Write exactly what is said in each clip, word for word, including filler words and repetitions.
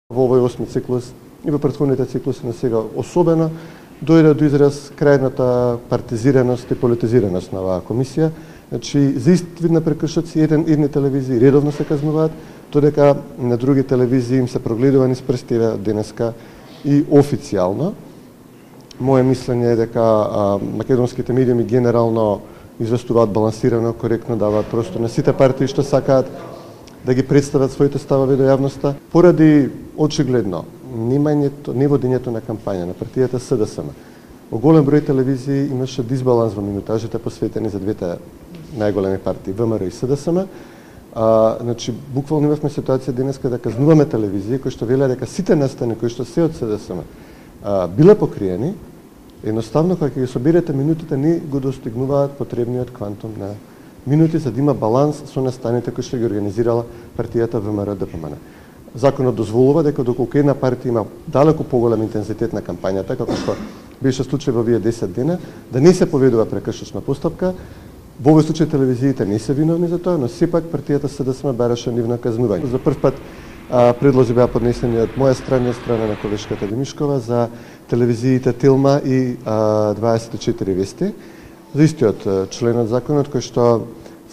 Во овој осми циклус и во претходните циклуси на сега особено дојде до израз крајната партизираност и политизираност на оваа комисија. Значи, за ист вид на прекршоци еден едни телевизии редовно се казнуваат, додека на други телевизии им се прогледува низ прстиве денеска и официјално. Моје мислење е дека а, македонските медиуми генерално известуваат балансирано, коректно, даваат простор на сите партии што сакаат да ги представат своите ставови до јавноста, поради очигледно немањето, неводењето на кампања на партијата СДСМ. Во голем број телевизии имаше дисбаланс во минутажите посветени за двете најголеми партии ВМРО и СДСМ. А, значи, буквално имавме ситуација денеска да казнуваме телевизии кои што велеа дека сите настани кои што се од СДСМ а, биле покриени, едноставно кога ќе ги соберете минутите не го достигнуваат потребниот квантум на минути за да има баланс со настаните кои што ги организирала партијата ВМРО-ДПМН. Законот дозволува дека доколку една партија има далеку поголем интензитет на кампањата, како што беше случај во овие десет дена, да не се поведува прекршочна постапка. Во овој случај телевизиите не се виновни за тоа, но сепак партијата СДСМ бараше нивно казнување. За прв пат а, предлози беа поднесени од моја страна и од страна на колешката Димишкова за телевизиите Тилма и а, дваесет и четири вести. За истиот член од законот кој што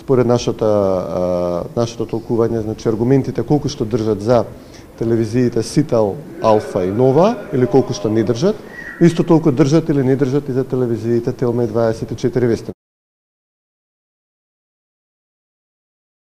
според нашата а, нашето толкување, значи аргументите колку што држат за телевизиите Сител, Алфа и Нова или колку што не држат, исто толку држат или не држат и за телевизиите Телма и дваесет и четири вести.